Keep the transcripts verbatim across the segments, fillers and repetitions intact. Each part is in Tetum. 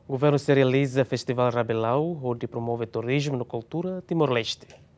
Governu sei realiza Festivál Rabilau hodi promove turizmu no kultura Timor-Leste.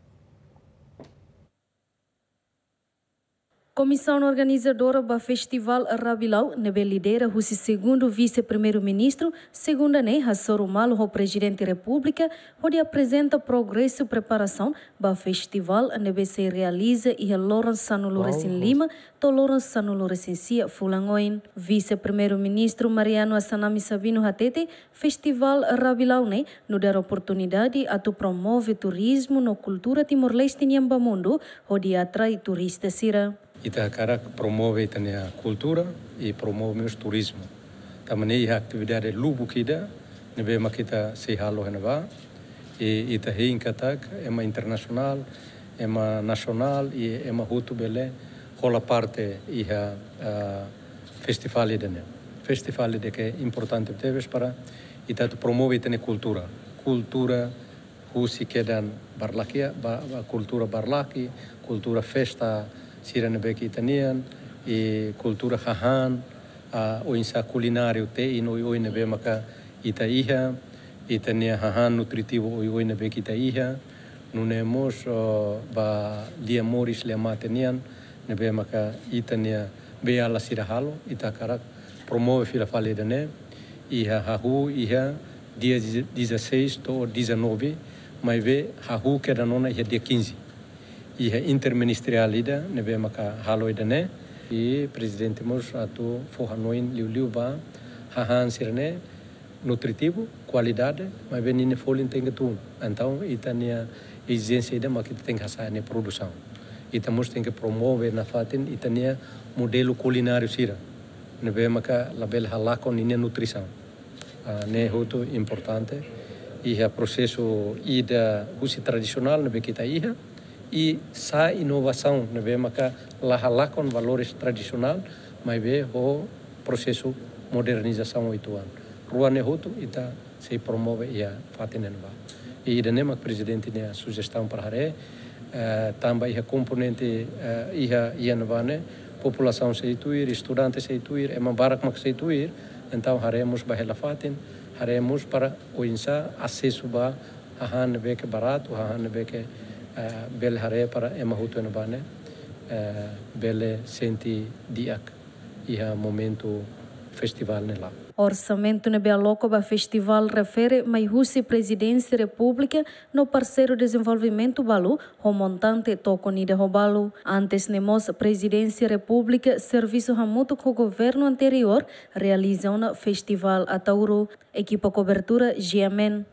Komisaun organizadora ba Festivál Rabilau, ne'ebé lidera husi segundu Vise-Primeiru-Ministru, segunda ne'e hasoru malu ho Prezidente Repúblika, hodi aprezenta progresu preparasaun ba festivál ne'ebé sei realiza iha loron sanulu-resin-lima to'o loron sanulu-resin-sia fulan oin. Vise-Primeiru-Ministru Mariano Assanami Sabino hatete, Festivál Rabilau ne'e nu'udar oportunidade atu promove turizmu no kultura Timor-Leste nian ba mundu, hodi atrai turista sira. Ita hakarak promove ita-nia kultura i promove mós turizmu. Tanba ne'e iha atividade lubuk ida ne'ebé mak ita sei halo iha ne'ebá. I ita hein katak ema internasionál, ema nasionál i ema hotu bele hola parte iha, ah, festivál ida-ne'e. Festivál ida ke importante tebes para ita atu promove ita-nia kultura. Kultura husi kedan barlaki, ba, ba kultura barlaki, kultura festa sira ne'ebé ke ita-nian, i kultura hahán, ah, oinsá kulináriu te'in oioin ne'ebé maka ita iha, ita-nia hahán nutritivu oioin ne'ebé ke ita iha, nune'e mós, oh, ba lia moris lia mate nian, ne'ebé maka ita-nia beiala sira halo, ita hakarak promove fila fali ida-ne'e, iha hahú, iha dia dezasseis to'o dezanove, maibé hahú kedan ona iha dia quinze. Iha interministeriál ida ne'ebé maka halo ida-ne'e, i Prezidente mós atu fó hanoin liuliu ba hahán sira-ne'e nutritivu, kualidade, maibé ninia folin tenke tun. Entaun, ita-nia ezijénsia ida mak ita tenke hasa'e nia produsaun. Ita mós tenke promove nafatin ita-nia modelu kulináriu sira ne'ebé maka labele halakon ninia nutrisaun. Ah, ne'e hotu importante. Iha prosesu ida husi tradisionál ne'ebé ke ita iha, i sai inovasaun ne'ebé maka la halakon valores tradisionál, maibé ho prosesu modernizasaun uitoan. Rua ne'e hotu ita sei promove iha fatin ne'ebá. I ida-ne'e mak Prezidente nia sujestaun para haree, eh, tanba iha komponente, eh, iha, iha ne'ebá ne'e, populasaun sei tuir, estudante sei tuir, ema barak mak sei tuir, entaun haree mós ba hela fatin, haree mós para oinsá asesu ba hahán ne'ebé ke baratu, hahán ne'ebé ke, eh, bele haree para ema hotu iha ne'ebá ne'e, eh, bele sente di'ak iha momentu festivál ne'e la'o. Orsamentu ne'ebé aloka ba festivál refere mai husi Prezidénsia Repúblika no parseiru dezenvolvimentu balu ho montante tokon ida ho balu. Antes ne'e mós Prezidénsia Repúblika servisu hamutuk ho governu anteriór realiza ona Festivál Ataúro. Ekipa kobertura G M N.